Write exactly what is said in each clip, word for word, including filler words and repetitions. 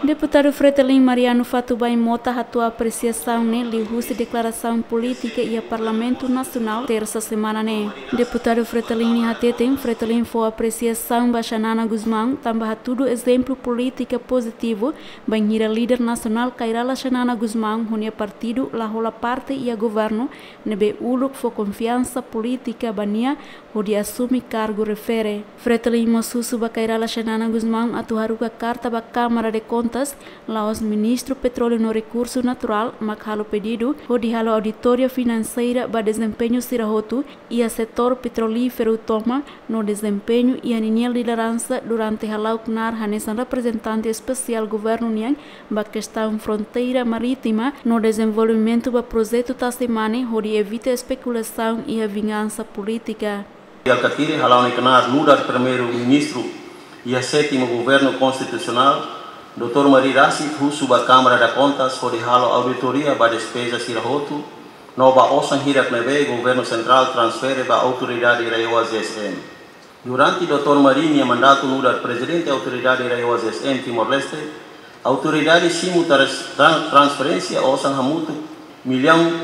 Deputadu Fretilin Mariano Fatubain Mota hato'o apresiasaun ne'e liuhusi deklarasaun polítika iha Parlamentu Nasionál, tersa semana ne'e. Deputadu Fretilin ne'e hateten, Fretilin fó apresiasaun ba Xanana Gusmão, tanba hatudu ezemplu polítika pozitivu, bainhira líder nasionál Kay Rala Xanana Gusmão, ho nia partidu la hola parte iha governu, ne'ebé uluk fó konfiansa polítika ba nia, hodi asume kargu refere. Fretilin mós husu ba Kay Rala Xanana Gusmão atu haruka karta ba Câmara de Contas, la'ós Ministru Petróleu no Rekursu Naturál, mak halo pedidu, hodi halo auditoria finanseira ba dezempeñu sira hotu, iha setór petrolíferu tomak, no dezempeñu iha ninia lideransa durante hala'o knaar hanesan reprezentante espesiál governu nian, ba kestaun fronteira marítima, no dezenvolvimentu ba projetu Tasi Mane, hodi evita espekulasaun iha vingansa polítika. Alkatiri hala'o nia knaar nu'udar Primeiru-Ministru iha sétimu Governu Konstitusionál, Doutór Mari rasik husu ba Câmara de Contas hodi halo auditoria ba despeza sira hotu, no ba osan hirak ne'ebé Governu Sentrál transfere ba Autoridade RAEOA-ZEESM. Durante Doutór Mari nia mandatu nu'udar Prezidente Autoridade RAEOA-ZEESM Timor-Leste, autoridade simu tras-, tran-, transferénsia osan hamutuk millaun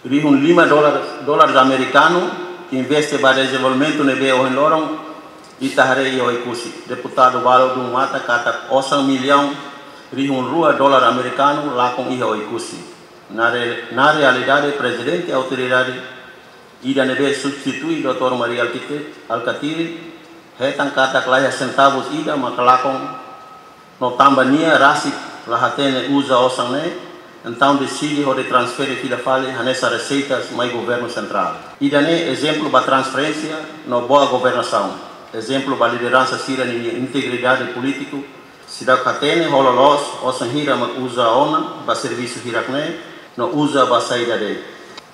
rihun lima dolar, dolar amerikanu, investe ba dezenvolvimentu ne'ebé ohin loron ita haree iha Oekusi. Deputadu balu dun matan katak osan millaun rihun rua dolar amerikanu lakon iha Oekusi. Na re-, na realidade, Prezidente Autoridade ida ne'ebé substitui Doutór Mari Alkite-, Alkatiri, hetan katak laiha sentavus ida maka lakon, no tanba nia rasik la hatene uza osan ne'e, entaun deside hodi transfere fila fali hanesan reseitas mai Governu Sentrál. Ida-ne'e ezemplu ba transparénsia no boa governasaun, ezemplu ba lideransa sira-nia integridade polítiku, seidauk hatene ho loloos osan hira mak uza ona ba servisu hirak ne'e, no uza ba saida de'it.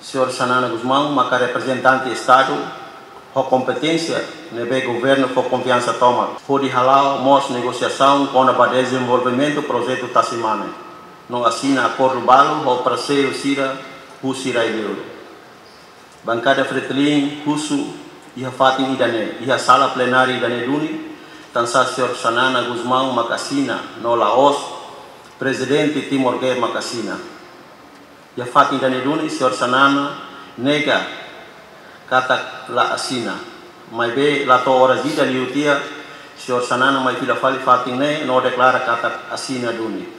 Señór Xanana Gusmão maka reprezentante Estadu ho kompeténsia ne'ebé governu fó konfiansa tomak, hodi hala'o mós negosiasaun kona-ba dezenvolvimentu projetu Tasi Mane, no asina akordu balu ho parseiru sira husi rai-liur. Bankada Fretilin husu iha fatin ida-ne'e, iha sala plenária ida-ne'e duni, tansá Señór Xanana Gusmão mak asina, no la'ós Prezidente Timor Gap mak asina. Iha fatin ida-ne'e duni, Señór Xanana nega katak la asina. Maibé la to'o oras ida liu tiha, Señór Xanana mai fila fali fatin ne'e no deklara katak asina duni.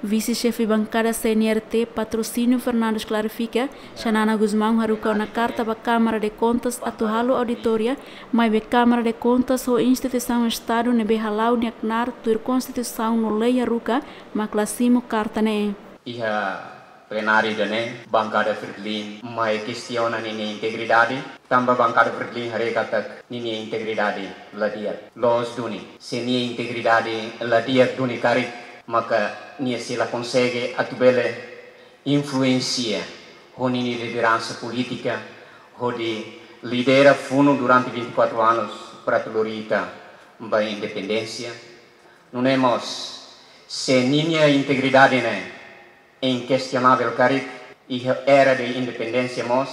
Vise-Xefe Bankada C N R T Patrocínio Fernandes klarifika, Xanana Gusmão haruka ona karta ba Câmara de Contas atu halo auditoria, maibé Câmara de Contas ho instituisaun Estadu ne'ebé hala'o nia knaar tuir Konstituisaun no lei haruka, mak la simu karta ne'e. Iha plenária ida-ne'e, Bankada Fretilin mai kestiona ninia integridade, tanba Bankada Fretilin haree katak ninia integridade la di'ak. Loos duni, se nia integridade la di'ak duni karik, maka nia sei la konsege atu bele influensia ho ninia lideransa polítika, hodi lidera funu durante vinte e quatro anos para atu lori ita ba independénsia. Nune'e mós, se ninia integridade ne'e inkestionavel karik, iha era de independénsia mós,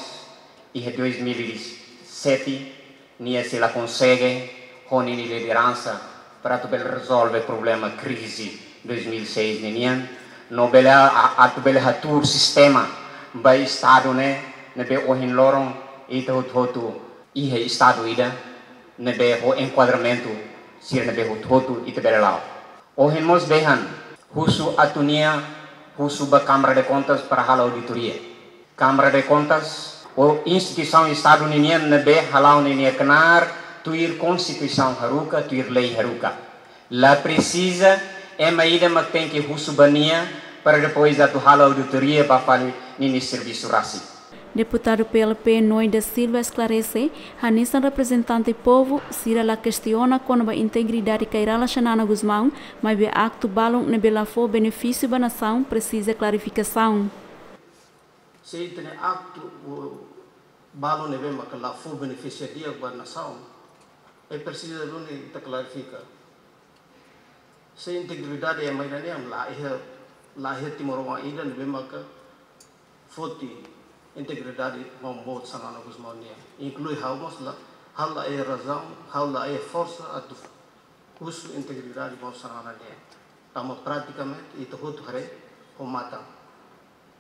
iha dois mil e sete, nia sei la konsege ho ninia lideransa para atu bele rezolve problema krize dois mil e seis ninian, no bele a-, a-, atu bele hatuur sistema ba Estadu ne'e, ne'ebé ohin loron ita hotu-hotu iha Estadu ida, ne'ebé ho enkuadramentu sira ne'ebé hotu-hotu ita bele la'o. Ohin mós dehan, husu atu nia, husu ba Câmara de Contas para halo auditoria. Câmara de Contas, ou instituisaun Estadu ninian ne'ebé hala'o ninia knaar tuir Konstituisaun haruka, tuir lei haruka. La presiza ema ida mak tenke husu ba nia para depois atu halo auditoria ba fali ninia servisu rasik. Deputadu P L P Noi da Silva esklarese, hanesan reprezentante povu, sira la kestiona kona-ba integridade Kay Rala Xanana Gusmão, maibé aktu balun ne'ebé la fó benefísiu ba nasaun presiza klarifikasaun. Se ita-nia aktu, o, balun ne'ebé maka la fó benefísiu di'ak ba nasaun, ne'e presiza duni ita klarifika. Se integridade ema ida-ne'e la iha, la iha timoroan ida ne'ebé maka foti integridade maun boot Xanana Gusmão nian. Inklui ha'u mós la, ha'u la iha razaun, ha'u la iha forsa atu husu integridade maun Xanana nian. Tanba pratikamente ita hotu haree ho matan.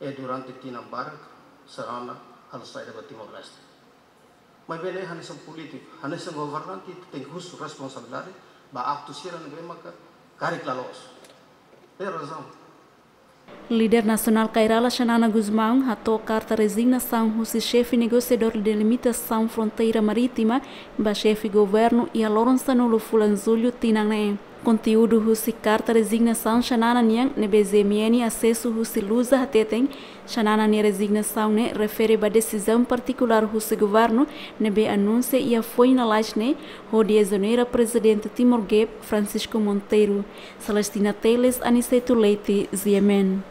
E durante tinan barak Xanana halo saida ba Timor-Leste. Maibé ne'e hanesan polítiku, hanesan governante ita tenke husu responsabilidade ba aktu sira ne'ebé maka karik la loos. Ne'e razaun. Líder nasionál Kay Rala Xanana Gusmão hato'o karta rezignasaun husi xefe negosiadór delimitasaun fronteira marítima ba xefe governu iha loron sanulu fulan Jullu tinan ne'e. Konteúdu husi karta rezignasaun Xanana nian ne'ebé G M N asesu husi Lusa hateten, Xanana nia rezignasaun ne'e refere ba desizaun partikulár husi governu ne'ebé anunsia iha foin lalais ne'e hodi ezonera Prezidente Timor GAP, Francisco Monteiro. Celestina Teles, Aniceto Leite, G M N.